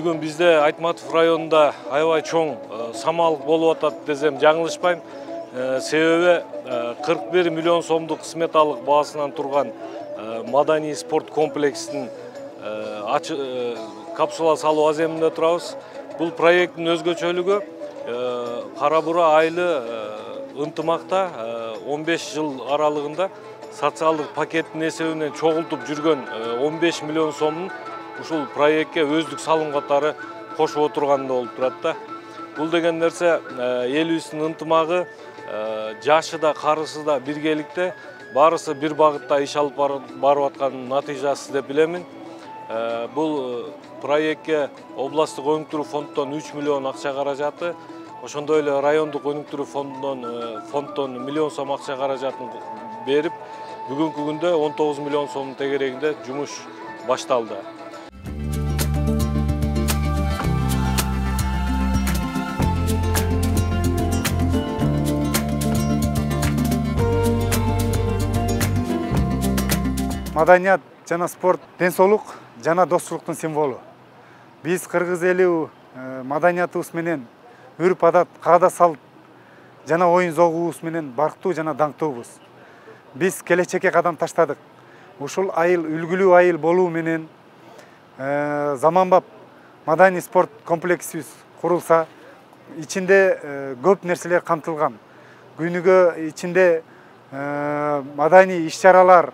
Бүгүн бизде Айтматов районунда аябай чоң самалык болуп атат десем жаңылышпайм. Себеби 41 миллион сомдук сметалык баасынан турган маданий спорт комплексин капсула салуу аземинде турабыз. Бул проекттин өзгөчөлүгү Кара Бура айылы ынтымакта 15 жыл аралыгында социалдык пакеттин эсебинен чогултуп жүргөн 15 миллион сомдун ушул проектке өздүк салым катары кошуп отурганда болуп турат да. Бул деген нерсе элибиздин ынтымагы, жашы да, карысы да биргеликте, баарысы бир багытта иш алып барып аткан натыйжасы деп билемин. Бул проектке областтык өнүктүрүү фонддон 3 миллион акча каражаты, ошондой эле райондук өнүктүрүү фонддон миллион сом акча каражатын берип, бүгүнкү күндө 19 миллион сомдун тегерегинде жумуш башталды. Маданият жана спорт ден соолук жана достуктун символу. Биз кыргыз эли маданиятыбыз менен үрп адат, каада салт жана оюн зогубуз менен барктуу жана даңктуубуз. Биз келечекке кадам таштадык. Ушул айыл үлгүлүү айыл болуу менен заманбап маданий спорт комплексибиз курулса, ичинде көп нерселер камтылган. Күнүгө ичинде маданий иш-чаралар,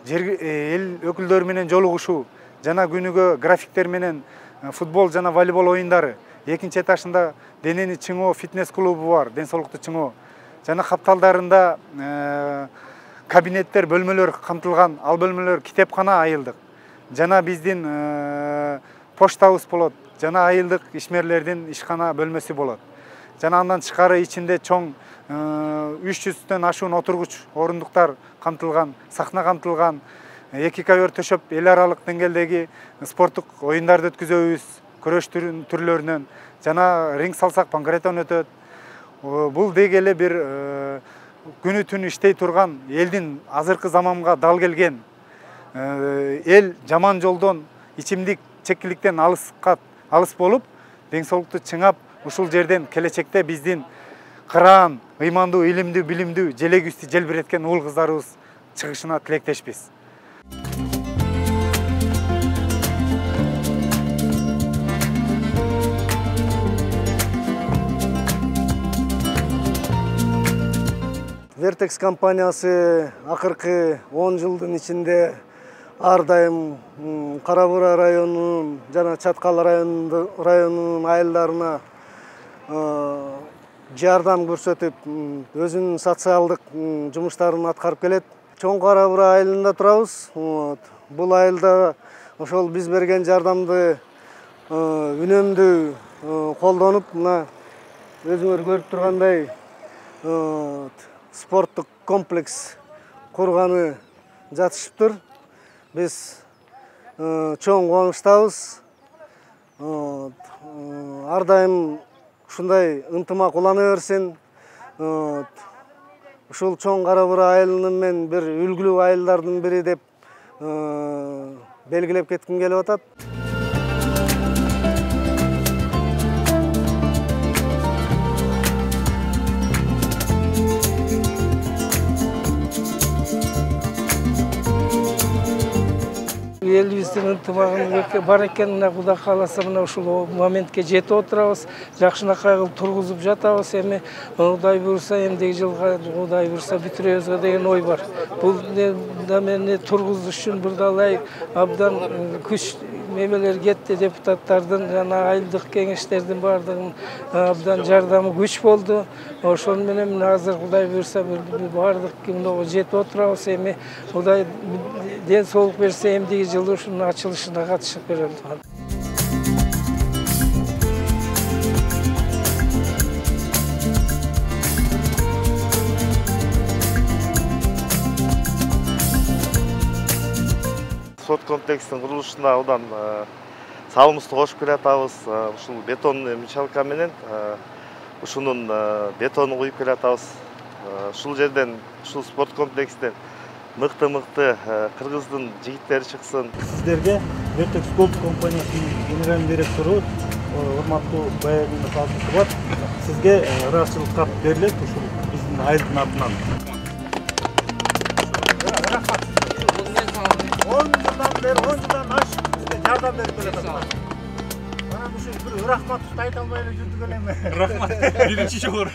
эл өкүлдөрү менен жолугушуу жана күнүгө графиктер менен футбол жана волейбол оюндары, экинчи этажында денени чыңоо фитнес клубу бар, ден соолукту чыңоо жана капталдарында кабинеттер, бөлмөлөр камтылган. Ал бөлмөлөр китепкана айылдык жана биздин поштабыз болот, жана айылдык ишмерлердин ишкана бөлмөсү болот. Жана андан тышкары ичинде чоң 300төн ашуун отургуч орундуктар камтылган, сахна камтылган, 2 ковер төшөп эл аралык деңгээлдеги спорттук оюндарды өткүзөбүз, күрөш түрлөрүнөн, жана ринг салсак панкратион өтөт. Бул деги эле бир күнү түнү иштей турган, элдин азыркы заманга дал келген, эл жаман жолдон, ичимдик чекиликтен алыс болуп, ден соолукту чыңап, ушул жерден келечекте биздин кыраан, ыймандуу, илимдүү, билимдүү, желегибизди желбиреткен уул кыздарыбыз чыгышына тилектешпиз. Vertex компаниясы акыркы 10 жылдын ичинде ар дайым Кара Бура районунун жана Чаткал районунун айылдарына жардам көрсөтүп, өзүнүн социалдык жумуштарын аткарып келет. Чоң Кара Бура айылында турабыз. Бул айылда ошол биз берген жардамды үнөмдүү колдонуп, мына өзүңөр көрүп тургандай спорттук комплекс курганы жатышыптыр. Биз чоң кубанычтабыз. Ар дайым ушундай ынтымак улана берсин. Ушул чоң Кара Бура айылынын мен бир үлгүлүү айылдардын бири деп белгилеп кетким келип атат. Элибиздин ынтымагы бар экен, мына Кудай кааласа мына ушул моментке жетип отурабыз. Жакшынакай кылып тургузуп жатабыз. Эми Кудай буйруса, эмдиги жылга Кудай буйруса бүтүрөбүзгө деген ой бар. Бул мени тургузуш үчүн бурдалай абдан күч мемелер кетти, депутаттардын жана айылдык кеңештердин баардыгынын абдан жардамы күч болду. Ошол менен азыр Кудай буйруса баардык күнгө жетип отурабыз. Эми Кудай ден соолук берсе, эмдиги жылы ушунун ачылышына катышып берем. Спорт комплексин курулушуна абдан салымыбызды кошуп келатабыз. Ушул бетон мочалка менен ушунун бетонун куюп келатабыз. Ушул жерден, ушул спорт комплексинен мыкты кыргыздын жигиттери чыксын. Сиздерге Vertex Gold компаниясынын генеральный директору урматтуу Баягулов Алтынсыбат сизге ыраазычылык кат берилет ушул биздин айылдын атынан. 10 жылдан аш бизге жардам берип келатат. Анан ушул бир рахмат айта албай эле жүрдүк элеме. Рахмат. Биринчи жолу.